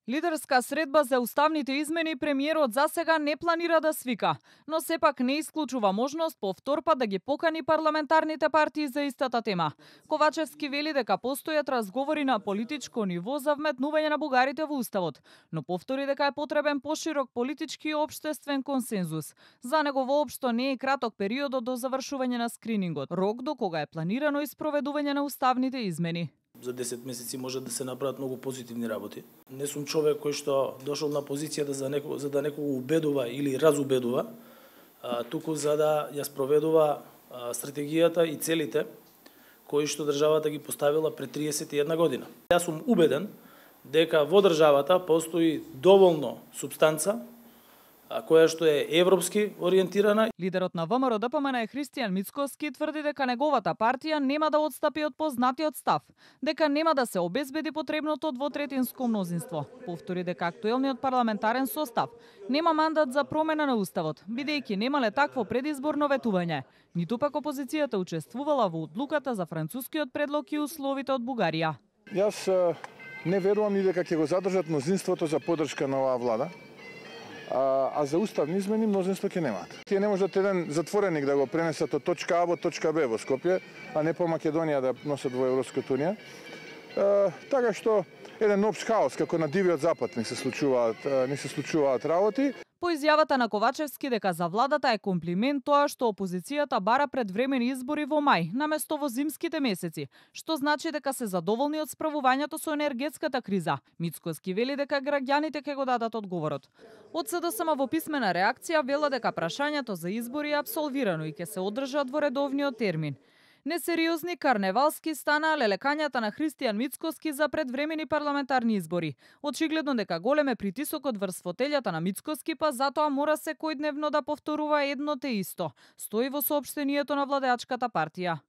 Лидерска средба за уставните измени премиерот засега не планира да свика, но сепак не исклучува можност повтор пат да ги покани парламентарните партии за истата тема. Ковачевски вели дека постојат разговори на политичко ниво за вметнување на бугарите во уставот, но повтори дека е потребен поширок политички и општествен консензус. За него воопшто не е краток периодот до завршување на скринингот, рок до кога е планирано и спроведување на уставните измени. За 10 месеци може да се направат многу позитивни работи. Не сум човек кој што дошол на позицијата за да некого убедува или разубедува, туку за да ја спроведува стратегијата и целите кои што државата ги поставила пред 31 година. Јас сум убеден дека во државата постои доволно супстанца која што е европски ориентирана. Лидерот на ВМРО ДПМН Христијан Мицкоски тврди дека неговата партија нема да отстапи од познатиот став, дека нема да се обезбеди потребното двотретинско мнозинство. Повтори дека актуелниот парламентарен состав нема мандат за промена на уставот, бидејќи немале такво предизборно ветување. Ниту пак опозицијата учествувала во одлуката за францускиот предлог и условите од Бугарија. Јас не верувам ни дека ќе го задржат мнозинството за поддршка на оваа влада. А за уставни измени мнозинство ќе немаат. Тие не можат еден затвореник да го пренесат од точка А во точка Б во Скопје, а не по Македонија да носат во Европската унија. Така што еден општ хаос како на дивиот запад не се случуваат работи. По изјавата на Ковачевски дека за владата е комплимент тоа што опозицијата бара предвремени избори во мај, наместо во зимските месеци, што значи дека се задоволни од справувањето со енергетската криза. Мицкоски вели дека граѓаните ќе го дадат одговорот. Од СДСМ во писмена реакција вела дека прашањето за избори е апсолвирано и ќе се одржат во редовниот термин. Несериозни карневалски стана лелекањата на Христијан Мицкоски за предвремени парламентарни избори. Очигледно дека голем е притисокот врз фотелјата на Мицкоски, па затоа мора секојдневно да повторува едно те исто, стои во соопштението на владеачката партија.